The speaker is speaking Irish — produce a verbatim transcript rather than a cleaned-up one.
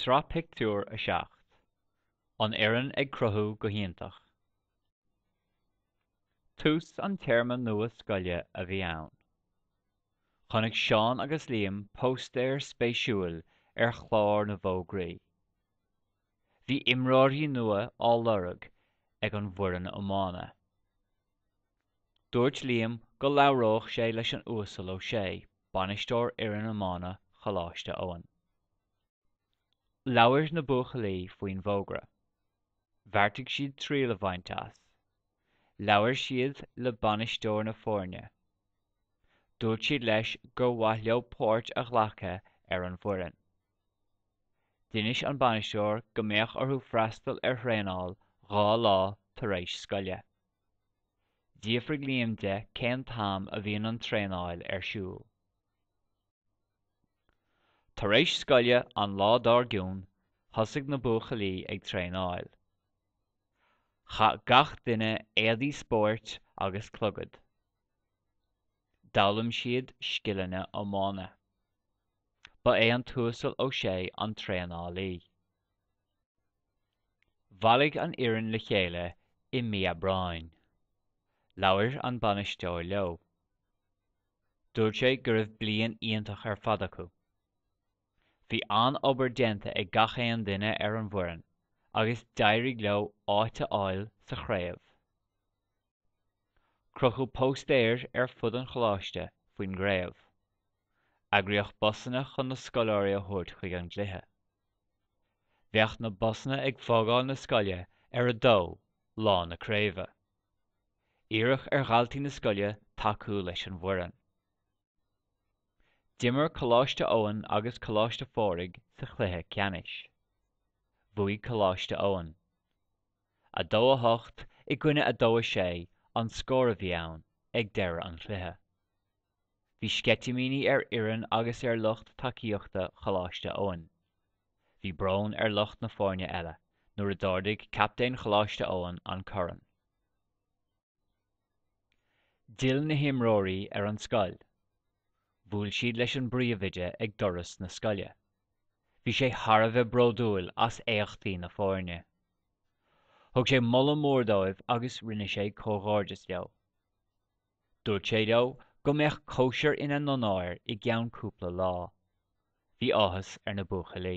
Sraith Pictiúr a seacht. An fhoireann ag cruthú go hiontach. Tús an téarma nua scoile a bhí ann. Chonaic Seán agus Liam póstaer spéisiúil ar chlár na bhfógraí. Bhí imreoirí nua á lorg ag an bhfoireann iomána. Dúirt Liam go labhródh sé leis an Uasal Ó Sé, bainisteoir fhoireann iomána Choláiste Eoin. Labhair na buachaillí faoin bhfógra. Bheartaigh siad triail a bhaint as. Labhair siad le bainisteoir na foirne. Dúirt siad leis gur mhaith leo páirt a ghlacadh ar an bhfoireann. D'inis an bainisteoir go mbeadh orthu freastal ar thraenáil dhá lá tar éis scoile. D'fhiafraigh Liam de cén t-am a bhíonn an traenáil ar siúl. Tar éis scoile an lá dár gcionn, thosaigh na buachaillí ag traenáil. Chaith gach duine éadaí spóirt agus clogad. D'fhoghlaim siad scileanna iomána. Ba é an tUasal Ó Sé an traenálaí. Bhailigh an fhoireann le chéile i mí Aibreáin. Labhair an bainisteoir leo. Dúirt sé go raibh bliain iontach ar fad acu. Bhí an-obair déanta ag gach aon duine ar an bhfoireann agus d'éirigh leo áit a fháil sa chraobh. Crochadh póstaeir ar fud an choláiste faoin gcraobh. Eagraíodh busanna chun na scoláirí a thabhairt chuig an gcluiche. Bheadh na busanna ag fágáil na scoile ar a dó lá na craoibhe. Iarradh ar dhaltaí na scoile tacú leis an bhfoireann. D'imir Coláiste Eoin agus Coláiste Phádraig sa chluiche ceannais. Bhuaigh Coláiste Eoin. A dó a hocht i gcoinne a dó a sé an scór a bhí ann ag deireadh an chluiche. Bhí sceitimíní ar fhoireann agus ar lucht tacaíochta Choláiste Eoin. Bhí brón ar lucht na foirne eile nuair a d'ardaigh captaen Choláiste Eoin an corn. D'fhill na himreoirí ar an scoil. Bhuail siad leis an bpríomhoide ag doras na scoile. Bhí sé thar a bheith bródúil as éachtaí na foirne. Thug sé moladh mór dóibh agus rinne sé comhghairdeas leo. Dúirt sé leo go mbeadh cóisir ina n-onóir i gceann cúpla lá. Bhí áthas ar na buachaillí.